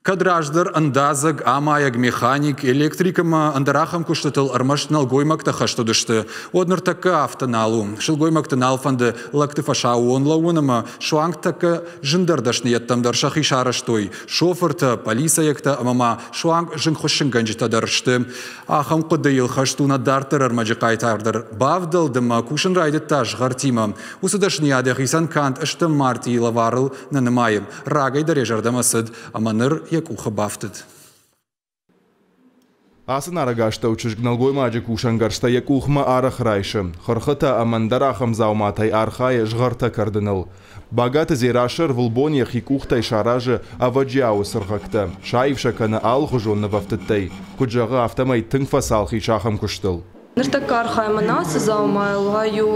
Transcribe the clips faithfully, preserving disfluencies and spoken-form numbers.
Кӕд раздӕр ӕндадзӕг, амайӕг, механик, электрик ӕмӕ ӕндӕр ахӕм куыстытыл ӕрмӕст нӕлгоймӕгтӕ хӕст уыдысты, уӕд ныртӕккӕ афтӕ нал у. Сылгоймӕгты нал фӕнды лӕгты фӕсаууон лӕууын ӕмӕ суанг тӕккӕ зындӕр дӕсныйӕдтӕм дӕр сӕхи сарӕзтой. Шофыртӕ, полицӕйӕгтӕ ӕмӕ ма суанг зынгхуыссынгӕнджытӕ дӕр сты. Ахӕм хъуыдыйыл хӕст у нӕ дарддӕр ӕрмӕджы хъайтар дӕр. Бавдӕлд ӕмӕ кусын райдыдта згъӕртимӕ. Уыцы дӕсныйад йӕхицӕн канд стӕм мартъийы лӕварыл нӕ нымайы. Рагӕй дӕр йӕ зӕрдӕмӕ цыд ӕмӕ ныр йӕ къухы бафтыд. Ацы нарӕгастӕу чызг нӕлгоймаджы кусӕнгӕрзтӕ йӕ къухмӕ арӕх райсы. Хырхытӕ ӕмӕ ӕндӕр ахӕм дзауматӕй архайы згъӕртӕ кӕрдыныл. Багаты Дзерассӕ ӕрвылбон йӕхи къухтӕй саразы ӕвӕджиауы цыргъӕгтӕ, саив сӕ кӕны алыхуызон нывӕфтыдтӕй. Куыд зӕгъы, афтӕмӕй тынг фӕцалх ис ахӕм куыстыл. Ныртӕккӕ архайӕм ацы дзаумайыл, ай у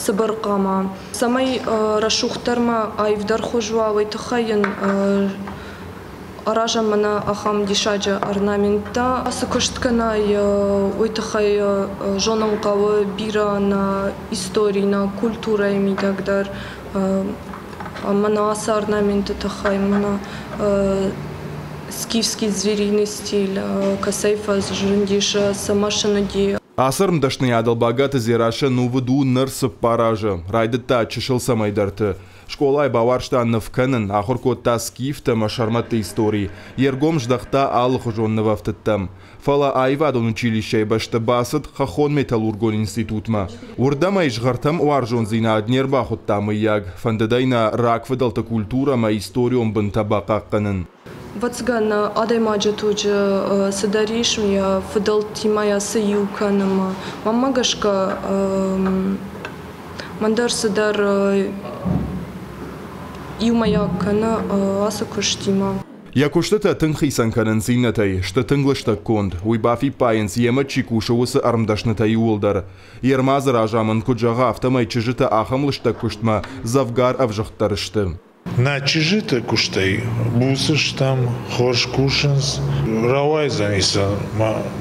цыбыр хъама. Цӕмӕй рӕсугъддӕр ма аивдӕр хуыз уа, уый тыххӕй йын аразӕм мӕнӕ ахӕм диссаджы орнаменттӕ. Цы куыст кӕнай, уый тыххӕй зонын хъӕуы бирӕ нӕ истори, нӕ культурӕйы мидӕг дӕр. Мӕнӕ ацы орнаменты тыххӕй, мӕнӕ скифский звериный стиль, кӕцӕй фӕзындис, цы мӕсын уыди. Ацы ӕрмдӕсныйадыл Багаты Дзерассӕ нувыд у ныр цыппар азы. Райдыдта чысыл цӕмӕйдӕрты. Скъолайы бауарзта ныв кӕнын, ахуыр кодта скифтӕ ӕмӕ сӕрмӕтты истори. Йе ргом здӕхта алыхуызон нывӕфтыдтӕм. Фӕлӕ аивадон училищӕйы бӕсты бацыд хӕххон металлургон институтмӕ. Уырдӕм ӕй згъӕртӕм уарзондзинад не рбахуыдта мыййаг. Фӕндыд ӕй нӕ рагфыдӕлты культурӕ ӕмӕ историон бынтӕ бахъахъхъӕнын. Ӕвӕццӕгӕн, адӕймаджы туджы цыдӕр ис, йӕ фыдӕлтимӕ йӕ цы иу кӕны. Мӕнмӕ гӕсгӕ, мӕн дӕр цыдӕр иумӕйаг кӕны ацы куыстимӕ. Йӕ куыстытӕ тынг хицӕн кӕнынц иннӕтӕй, сты тынг лыстӕггонд. Уый бафиппайынц, йемӕ чи кусы, уыцы ӕрмдӕснытӕ иууылдӕр. Йе рмадзы разамынд куыд зӕгъы, афтӕмӕй чызджытӕ ахӕм лыстӕг куыстмӕ дзӕвгар ӕвзыгъддӕр сты. Нӕ чызджыты куыстӕй буц стӕм, хорз кусынц, рауайдзӕни сӕ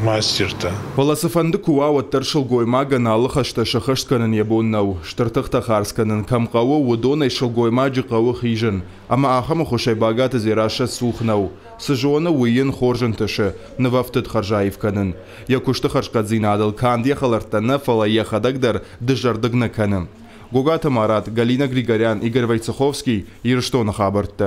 мастертӕ. Фӕлӕ цыфӕнды куы уа, уӕддӕр сылгоймагӕн алы хӕстӕ сӕххӕст кӕнын йӕ бон нӕу. Стыр тыхтӕ хардз кӕнын кӕм хъӕуы, уыдонӕй сылгоймаджы хъӕуы хизын. Ӕмӕ ахӕм ӕххуысӕй Багаты Дзерассӕ цух нӕу. Цы зоны, уый йын хорз ӕнтысы нывӕфтыд хӕрзаив кӕнын. Йӕ куысты хӕрзхъӕддзинадыл канд йӕ хӕлӕрттӕ нӕ, фӕлӕ йӕхӕдӕг дӕр дызӕрдыг нӕ кӕны. Гогаты Марат, Галина Григорян, Игорь Войцеховский, Ирыстоны хабӕрттӕ.